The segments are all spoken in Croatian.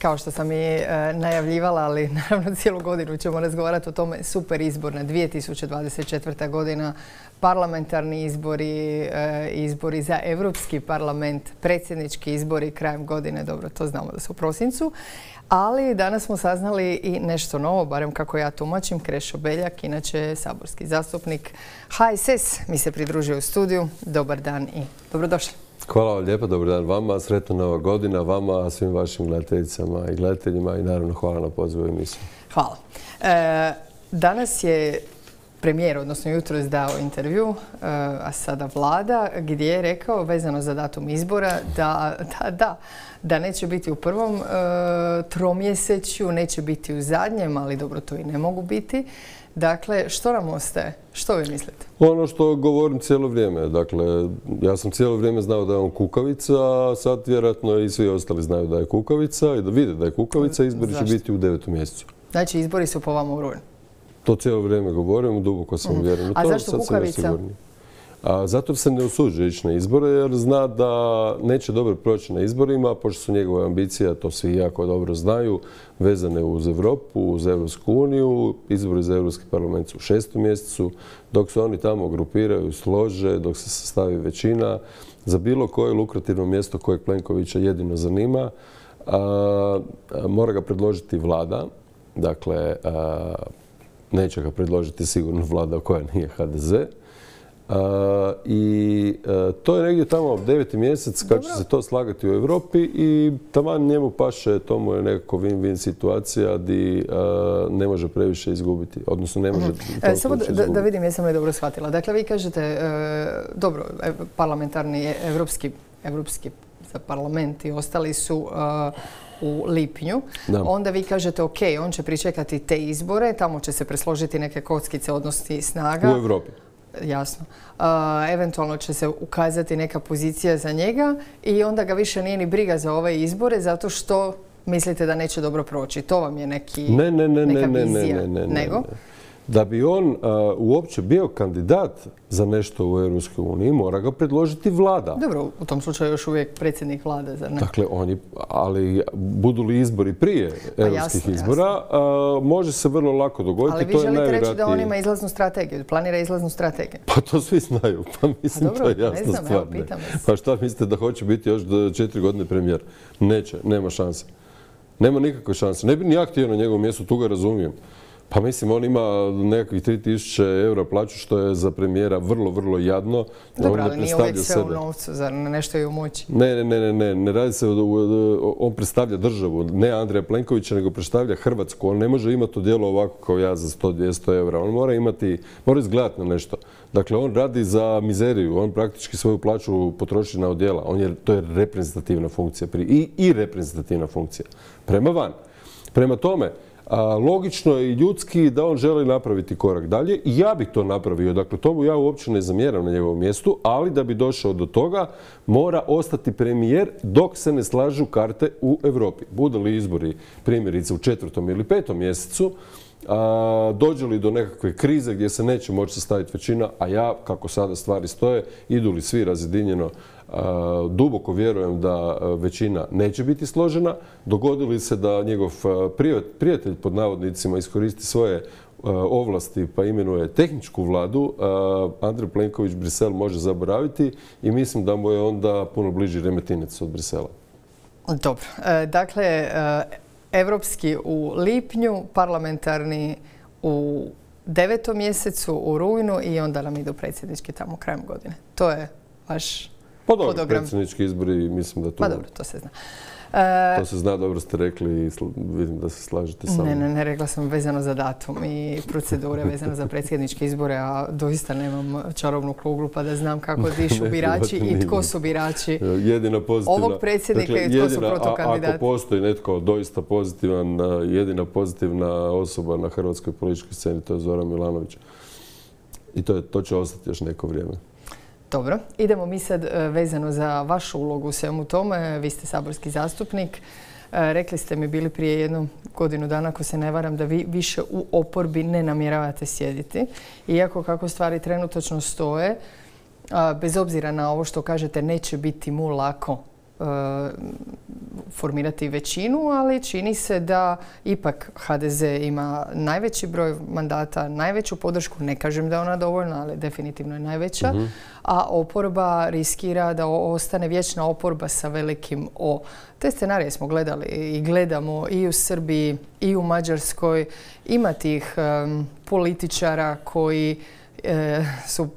kao što sam i najavljivala, ali naravno cijelu godinu ćemo razgovarati o tome. Super izborna 2024. godina, parlamentarni izbori, izbori za Europski parlament, predsjednički izbori krajem godine, dobro, to znamo da su u prosincu. Ali danas smo saznali i nešto novo, barem kako ja tumačim. Krešo Beljak, inače saborski zastupnik HSS, mi se pridružio u studiju. Dobar dan i dobrodošli. Hvala vam lijepo, dobar dan vama, sretna nova godina vama, svim vašim gledateljicama i gledateljima i naravno hvala na pozivu u emisiju. Hvala. Danas je premijer, odnosno jutros dao intervju, a sada vlada, gdje je rekao vezano za datum izbora da neće biti u prvom tromjesečju, neće biti u zadnjem, ali dobro, to i ne mogu biti. Dakle, što nam ostaje? Što vi mislite? Ono što govorim cijelo vrijeme. Dakle, ja sam cijelo vrijeme znao da je on kukavica, a sad vjerojatno i svi ostali znaju da je kukavica i da vide da je kukavica. Izbori će biti u 9. mjesecu. Znači, izbori su po vama u rujnu? To cijelo vrijeme govorim, duboko sam uvjeren. A zašto kukavica? Zato se ne usuđuje ići na izbore jer zna da neće dobro proći na izborima, pošto su njegove ambicije, to svi jako dobro znaju, vezane uz Europu, uz Europsku uniju, izbori za Europski parlament su u 6. mjesecu, dok se oni tamo grupiraju, slože, dok se sastavi većina, za bilo koje lukrativno mjesto kojeg Plenkovića jedino zanima, mora ga predložiti vlada, dakle, neće ga predložiti sigurno vlada koja nije HDZ. I to je negdje tamo 9. mjesec kad će se to slagati u Europi i taman njemu paše, to mu je nekako win-win situacija gdje ne može previše izgubiti, odnosno ne može samo da vidim jesam li dobro shvatila. Dakle, vi kažete, dobro, parlamentarni evropski za parlament i ostali su u lipnju. Onda vi kažete, ok, on će pričekati te izbore, tamo će se presložiti neke kockice odnosi snaga. U Europi. Jasno. Eventualno će se ukazati neka pozicija za njega i onda ga više nije ni briga za ove izbore zato što mislite da neće dobro proći. To vam je neka vizija. Nego? Da bi on uopće bio kandidat za nešto u Europskoj uniji, mora ga predložiti vlada. Dobro, u tom slučaju još uvijek predsjednik vlade, zar ne? Dakle, ali budu li izbori prije europskih izbora, može se vrlo lako dogoditi. Ali vi želite reći da on ima izlaznu strategiju, planira izlaznu strategiju? Pa to svi znaju, pa mislim to je jasna stvar. Pa šta mislite da hoće biti još do 4 godine premijer? Neće, nema šanse. Nema nikakve šanse. Ne bi ni ja htio na njegovom mjestu, tu ga razumijem. Pa mislim, on ima nekakvih 3000 eura plaću, što je za premijera vrlo, vrlo jadno. Dobro, ali nije uvijek sve u novcu, zar nešto je u moći? Ne radi se, on predstavlja državu, ne Andreja Plenkovića, nego predstavlja Hrvatsku. On ne može imati odjelo ovako kao ja za 100-200 eura. On mora izgledati na nešto. Dakle, on radi za mizeriju, on praktički svoju plaću potroši na odjela. To je reprezentativna funkcija i reprezentativna funkcija prema van. Prema tome, logično je i ljudski da on želi napraviti korak dalje i ja bih to napravio. Dakle, tomu ja uopće ne zamjeram na njegovom mjestu, ali da bi došao do toga mora ostati premijer dok se ne slažu karte u Europi. Budu li izbori primjerice u 4. ili 5. mjesecu, dođe li do nekakve krize gdje se neće moći sastaviti većina, a ja, kako sada stvari stoje, idu li svi razjedinjeno, duboko vjerujem da većina neće biti složena. Dogodili se da njegov prijatelj pod navodnicima iskoristi svoje ovlasti pa imenuje tehničku vladu, Andrej Plenković Brisel može zaboraviti i mislim da mu je onda puno bliži Remetinec od Brisela. Dobro. Dakle, evropski u lipnju, parlamentarni u 9. mjesecu, u rujnu i onda nam idu predsjednički tamo krajem godine. To je vaš hodogram. Pa dobro, predsjednički izbori, mislim da to... Pa dobro, to se zna. To se zna, dobro ste rekli i vidim da se slažete sa mnom. Ne, rekla sam vezano za datum i procedure vezano za predsjedničke izbore, a doista nemam čarobnu kuglu pa da znam kako dišu birači i tko su birači ovog predsjednika i tko su protokandidati. Ako postoji netko doista pozitivan, jedina pozitivna osoba na hrvatskoj političkoj sceni, to je Zoran Milanović. I to će ostati još neko vrijeme. Dobro, idemo mi sad vezano za vašu ulogu u svemu tome. Vi ste saborski zastupnik. Rekli ste mi bili prije 1 godinu dana, ako se ne varam, da vi više u oporbi ne namjeravate sjediti. Iako kako stvari trenutačno stoje, bez obzira na ovo što kažete, neće biti mu lako formirati većinu, ali čini se da ipak HDZ ima najveći broj mandata, najveću podršku. Ne kažem da je ona dovoljna, ali definitivno je najveća. A oporba riskira da ostane vječna oporba sa velikim O. Te scenarije smo gledali i gledamo i u Srbiji i u Mađarskoj. Ima tih političara koji su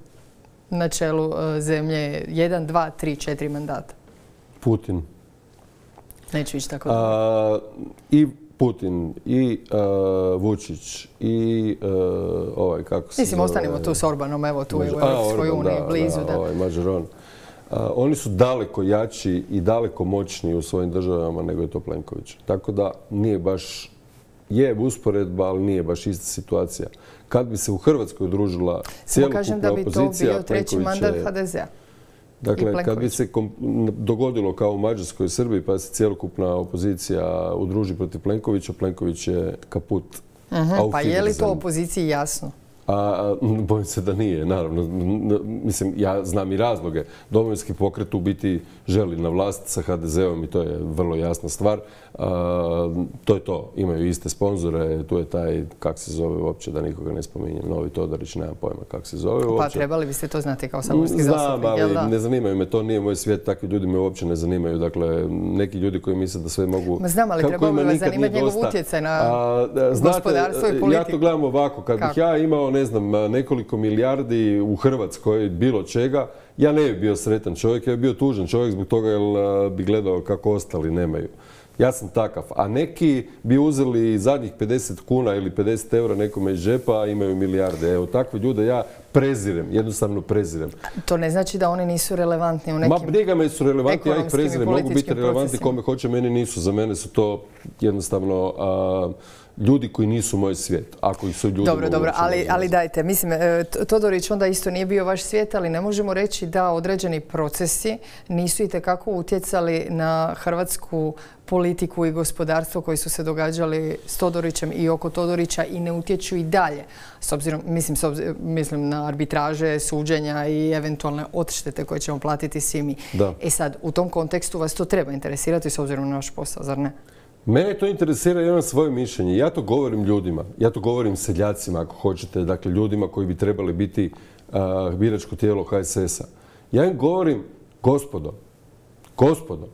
na čelu zemlje 1, 2, 3, 4 mandata. Putin. Neću ići tako I Putin, i Vučić, i ovaj, kako se Mislim, ostanimo tu s Orbanom, evo tu je u Europskoj uniji, blizu. Ovaj Mađaron. Oni su daleko jači i daleko moćniji u svojim državama nego je to Plenković. Tako da nije baš, je usporedba, ali nije baš ista situacija. Kad bi se u Hrvatskoj udružila cjelokupna opozicija, kažem da bi to bio treći mandat HDZ-a. Dakle, kad bi se dogodilo kao u Mađarskoj i Srbiji, pa se cjelokupna opozicija udruži protiv Plenkovića, Plenković je kaput. Pa je li to opoziciji jasno? Bojim se da nije, naravno. Mislim, ja znam i razloge. Domovinski pokret u biti želi na vlast sa HDZ-om i to je vrlo jasna stvar. To je to. Imaju iste sponzore. Tu je taj, kak se zove uopće, da nikoga ne spominjem, Novi Todorić, nemam pojma kak se zove uopće. Pa trebali biste to znati kao saborski zastupnik, jel da? Znam, ali ne zanimaju me. To nije moj svijet. Takvi ljudi me uopće ne zanimaju. Dakle, neki ljudi koji misle da sve mogu... Znam, ali trebalo bi vas zanimati njegov utjecaj na gospodarstvo i politiku. Ja to gledam ovako. Kad bih ja imao, ne znam, nekoliko milijardi u Hrvatskoj, bilo čega, ja ne bi bio sretan čovjek, ja bi bio tužan čovjek zbog toga jer bi gledao kako ostali nemaju. Ja sam takav. A neki bi uzeli zadnjih 50 kuna ili 50 eura nekome iz džepa, a imaju milijarde. Evo, takve ljude ja prezirem, jednostavno prezirem. To ne znači da oni nisu relevantni u nekim ekonomskim i briga me su relevantni, ja ih prezirem. Mogu biti relevantni kome hoće, meni nisu. Za mene su to jednostavno ljudi koji nisu moj svijet. Ako ih su ljudi... Dobro, ali dajte. Mislim, Todorić onda isto nije bio vaš svijet, ali ne možemo reći da određeni procesi nisu itekako utjecali na hrvatsku politiku i gospodarstvo koji su se događali s Todorićem i oko Todorića i ne utječu i dalje. S obzirom, mislim na arbitraže, suđenja i eventualne odštete koje ćemo platiti svi mi. E sad, u tom kontekstu vas to treba interesirati s obzirom na naš posao, zar ne? Mene to interesira, ja imam svoje mišljenje. Ja to govorim ljudima, ja to govorim seljacima ako hoćete, dakle ljudima koji bi trebali biti biračko tijelo HSS-a. Ja im govorim, gospodo,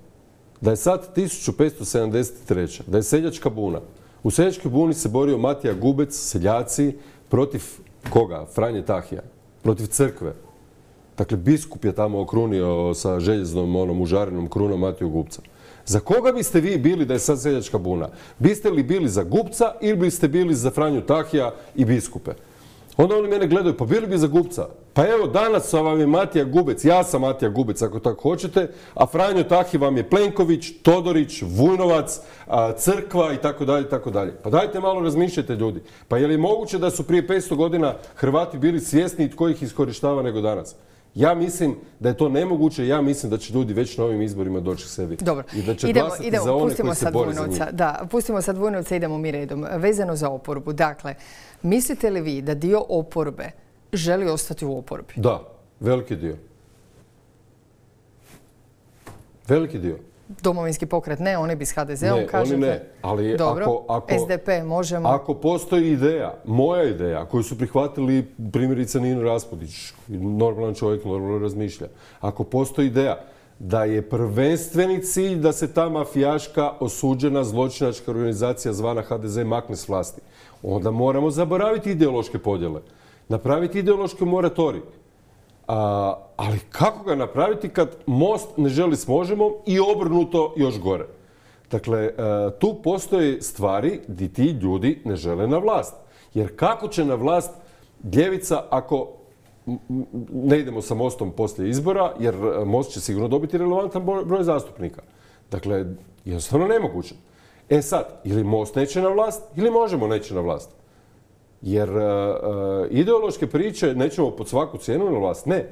da je sad 1573. da je seljačka buna. U seljačkoj buni se borio Matija Gubec, seljaci, protiv koga? Franje Tahija. Protiv crkve. Dakle, biskup je tamo okrunio sa željeznom onom užarenom krunom Matiju Gubca. Za koga biste vi bili da je sad seljačka buna? Biste li bili za Gubca ili biste bili za Franju Tahija i biskupe? Onda oni mene gledaju, pa bili bi za Gubca. Pa evo, danas vam je Matija Gubec, ja sam Matija Gubec ako tako hoćete, a Franjo Tahi vam je Plenković, Todorić, Vujnovac, crkva i tako dalje, tako dalje. Pa dajte malo razmišljajte ljudi. Pa je li moguće da su prije 500 godina Hrvati bili svjesni tko ih iskorištava nego danas? Ja mislim da je to nemoguće, ja mislim da će ljudi već na ovim izborima doći k sebi. Dobro, i da će glasati za one koji se bore za njih. Da, pustimo sad Vujnovca i idemo mi redom. Vezano za oporbu, dakle, mislite li vi da dio oporbe želi ostati u oporbi? Da, veliki dio. Veliki dio. Domovinski pokret ne, oni bi s HDZ-om, kažete? Ne, oni ne, ali dobro, SDP, možemo... Ako postoji ideja, moja ideja, koju su prihvatili primjerice Nino Raspudić, normalan čovjek, normalno razmišlja. Ako postoji ideja da je prvenstveni cilj da se ta mafijaška osuđena zločinačka organizacija zvana HDZ makne s vlasti, onda moramo zaboraviti ideološke podjele, napraviti ideološki moratorij. Ali kako ga napraviti kad Most ne želi s Možemo i obrnuto još gore? Dakle, tu postoje stvari gdje ti ljudi ne žele na vlast. Jer kako će na vlast ljevica ako ne idemo sa Mostom poslije izbora, jer Most će sigurno dobiti relevantan broj zastupnika. Dakle, jednostavno nemoguće. E sad, ili Most neće na vlast, ili Možemo neće na vlast. Jer ideološke priče nećemo pod svaku cijenu na vlast. Ne.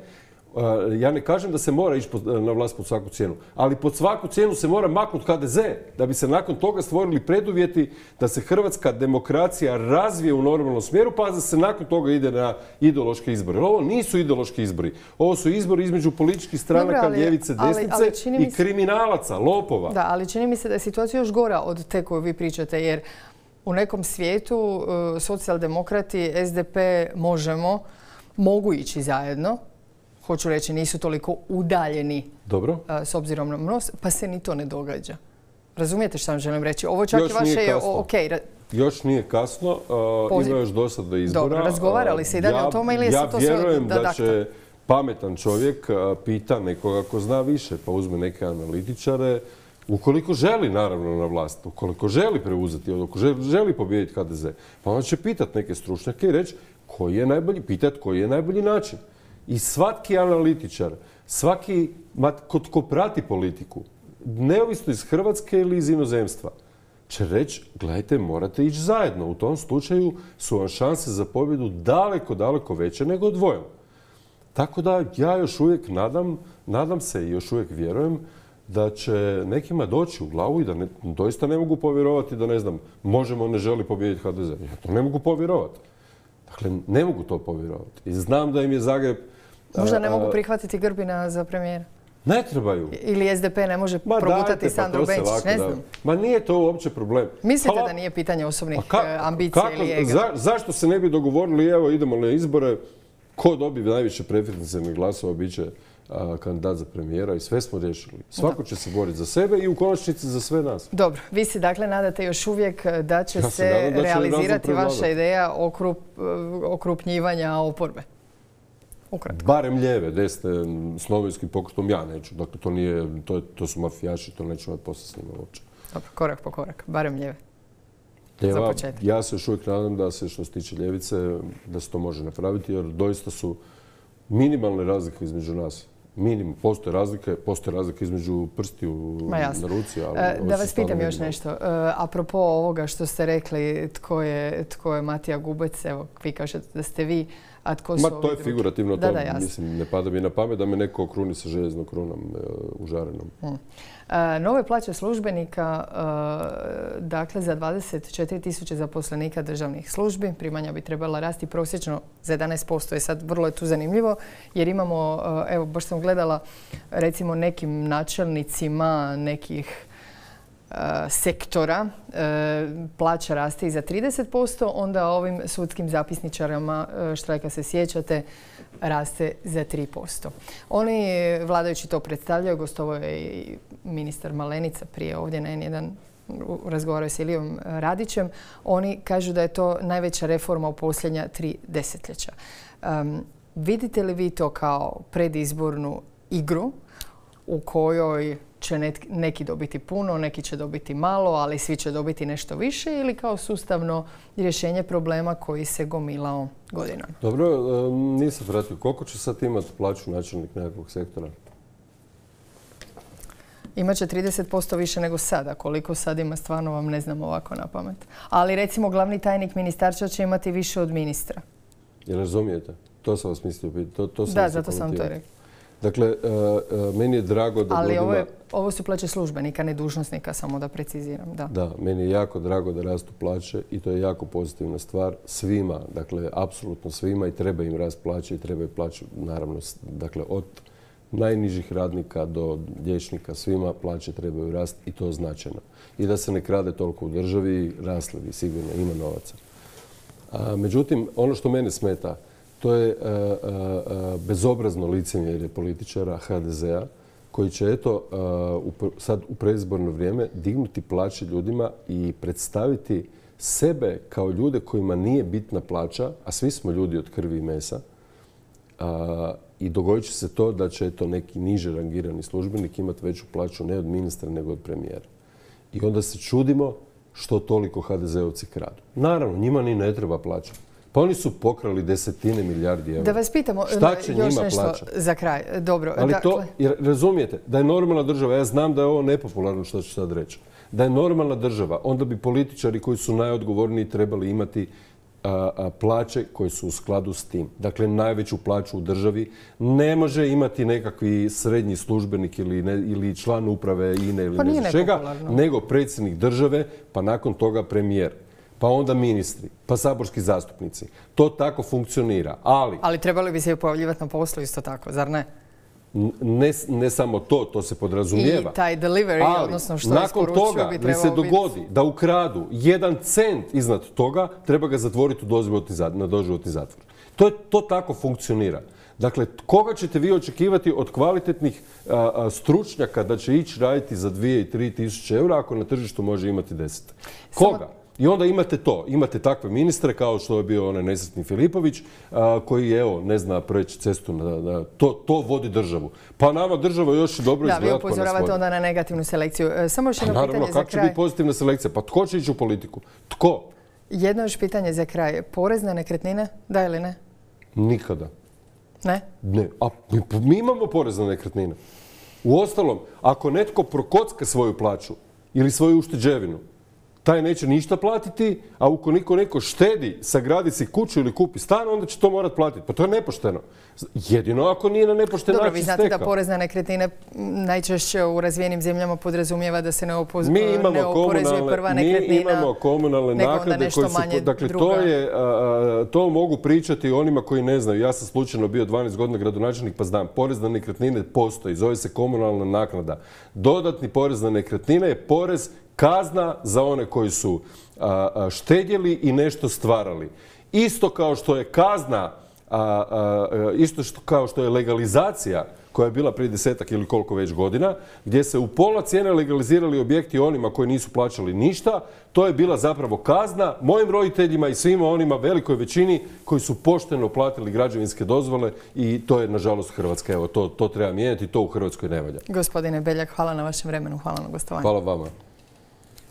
Ja ne kažem da se mora ići na vlast pod svaku cijenu, ali pod svaku cijenu se mora maknuti HDZ da bi se nakon toga stvorili preduvjeti da se hrvatska demokracija razvije u normalnom smjeru, pa da se nakon toga ide na ideološke izbore. Ovo nisu ideološki izbori. Ovo su izbori između političkih stranaka, ljevice, desnice i kriminalaca, lopova. Da, ali čini mi se da je situacija još gora od te koju vi pričate, jer u nekom svijetu socijaldemokrati, SDP, Možemo, mogu ići zajedno. Hoću reći, nisu toliko udaljeni s obzirom na MOST, pa se ni to ne događa. Razumijete što vam želim reći? Ovo čak i vaše je okej. Još nije kasno, ima još dosta do izbora. Dobro, razgovarali se i dalje o tome ili je se to sve... Ja vjerujem da će pametan čovjek pita nekoga ko zna više, pa uzme neke analitičare, ukoliko želi naravno na vlast, ukoliko želi preuzeti, ukoliko želi pobijediti HDZ, pa on će pitati neke stručnjake i reći koji je najbolji način. I svaki analitičar, svaki ko prati politiku, neovisno iz Hrvatske ili iz inozemstva, će reći, gledajte, morate ići zajedno. U tom slučaju su vam šanse za pobjedu daleko, daleko veće nego dvojom. Tako da ja još uvijek nadam se i još uvijek vjerujem da će nekima doći u glavu i da doista ne mogu povjerovati da, ne znam, Možemo ne želi pobijediti HDZ. Ja to ne mogu povjerovati. Dakle, ne mogu to povjerovati. I znam da im je Zagreb... Možda ne mogu prihvatiti Grbina za premijera? Ne trebaju. Ili SDP ne može progutati Sandru Benčić, ne znam. Ma nije to uopće problem. Mislite da nije pitanje osobnih ambicija ili ega? Zašto se ne bi dogovorili, evo idemo na izbore, ko dobije najviše preferencijalnih glasova bit će kandidat za premijera i sve smo riješili. Svako će se boriti za sebe i u konačnici za sve nas. Dobro, vi se dakle nadate još uvijek da će se realizirati vaša ideja okrupnjivanja oporbe? Ukratko. Barem lijeve, desne, s novinskim pokretom ja neću. Dakle, to su mafijaši, to neću imati posle s njima uopće. Dobro, korak po korak, barem lijeve. Ja se još uvijek nadam da se, što se tiče ljevice, da se to može napraviti, jer doista su minimalne razlike između nas. Postoje razlike između prstiju na ruci. Da vas pitam još nešto. Apropo ovoga što ste rekli, tko je Matija Gubec, evo, vi kažete da ste vi, a tko su ovi drugi? To je figurativno, mislim, ne pada mi na pamet da me neko okruni sa željeznom krunom užarenom. Nove plaće službenika, dakle za 24.000 zaposlenika državnih službi, primanja bi trebala rasti prosječno za 11%. Sad vrlo je tu zanimljivo jer imamo, evo baš sam gledala recimo nekim načelnicima nekih sektora plaća raste i za 30%, onda ovim sudskim zapisničarama, štrajka se sjećate, raste za 3%. Oni vladajući to predstavljaju, gostovao je i ministar Malenica prije ovdje na N1, razgovaraju s Ilijom Radićem. Oni kažu da je to najveća reforma u posljednja 3 desetljeća. Vidite li vi to kao predizbornu igru u kojoj će neki dobiti puno, neki će dobiti malo, ali svi će dobiti nešto više, ili kao sustavno rješenje problema koji se gomilao godinama? Dobro, nisam pratio. Koliko će sad imati plaću načelnik nekakvog sektora? Imaće 30% više nego sada. Koliko sad ima, stvarno vam ne znam ovako na pamet. Ali recimo glavni tajnik ministarstva će imati više od ministra. Jel razumijete? To sam vas mislio pitati. Da, zato sam to rekao. Dakle, meni je drago da... Ali ovo su plaće službenika, ne dužnosnika, samo da preciziram. Da, meni je jako drago da rastu plaće i to je jako pozitivna stvar svima, dakle, apsolutno svima, i treba im rast plaće i treba im plaću, naravno, dakle, od najnižih radnika do liječnika, svima plaće trebaju rast i to značajno. I da se ne krade toliko u državi, rasli bi sigurno, ima novaca. Međutim, ono što mene smeta, to je bezobrazno licemjerje političara HDZ-a koji će, eto, sad u predizborno vrijeme dignuti plaće ljudima i predstaviti sebe kao ljude kojima nije bitna plaća, a svi smo ljudi od krvi i mesa, i dogodit će se to da će, eto, neki niže rangirani službenik imati veću plaću ne od ministra nego od premijera. I onda se čudimo što toliko HDZ-ovci kradu. Naravno, njima ni ne treba plaća. Pa oni su pokrali desetine milijardi eura. Da vas pitamo još nešto za kraj. Dobro. Ali to, jer razumijete, da je normalna država, ja znam da je ovo nepopularno što ću sad reći, da je normalna država, onda bi političari koji su najodgovorniji trebali imati plaće koje su u skladu s tim. Dakle, najveću plaću u državi ne može imati nekakvi srednji službenik ili član uprave INE ili ne znam čega, nego predsjednik države, pa nakon toga premijer, pa onda ministri, pa saborski zastupnici. To tako funkcionira. Ali trebali bi se i pojavljivati na poslu isto tako, zar ne? Ne samo to se podrazumijeva. I taj delivery, odnosno što isporučuju, bi trebalo biti... nakon toga se dogodi da ukradu 1 cent iznad toga, treba ga zatvoriti na doživotni zatvor. To tako funkcionira. Dakle, koga ćete vi očekivati od kvalitetnih stručnjaka da će ići raditi za 2 i 3 tisuće eura ako na tržištu može imati 10? Koga? I onda imate takve ministre kao što je bio onaj nesretni Filipović koji, evo, ne zna preći cestu, to vodi državu. Pa nama država još dobro izgleda. Da, vi upozoravate onda na negativnu selekciju. Samo još jedno pitanje za kraj. Naravno, kako će biti pozitivna selekcija? Pa tko će ići u politiku? Tko? Jedno još pitanje za kraj. Porez na nekretnine, da ili ne? Nikada. Ne? Ne. A mi imamo porez na nekretnine. Uostalom, ako netko prokocka svoju plaću ili svoju ušteđevinu, taj neće ništa platiti, a ukoliko neko štedi, sagradi si kuću ili kupi stan, onda će to morati platiti. Pa to je nepošteno. Jedino ako nije na nepošten način stekao. Dobro, vi znate da porez na nekretnine najčešće u razvijenim zemljama podrazumijeva da se ne oporezuje prva nekretnina. Mi imamo komunalne naknade koje su... Dakle, to mogu pričati onima koji ne znaju. Ja sam slučajno bio 12 godina gradonačelnik pa znam. Porez na nekretnine postoji, zove se komunalna naknada. Dodatni porez na nekretnine je porez kazna za one koji su štedjeli i nešto stvarali. Isto kao što je kazna, isto kao što je legalizacija koja je bila prije 10-ak ili koliko već godina, gdje se u pola cijene legalizirali objekti onima koji nisu plaćali ništa, to je bila zapravo kazna mojim roditeljima i svima onima velikoj većini koji su pošteno platili građevinske dozvole i to je nažalost Hrvatska. Evo, to treba mijenjati, to u Hrvatskoj ne valja. Gospodine Beljak, hvala na vašem vremenu, hvala na gostovanju. Hvala vama.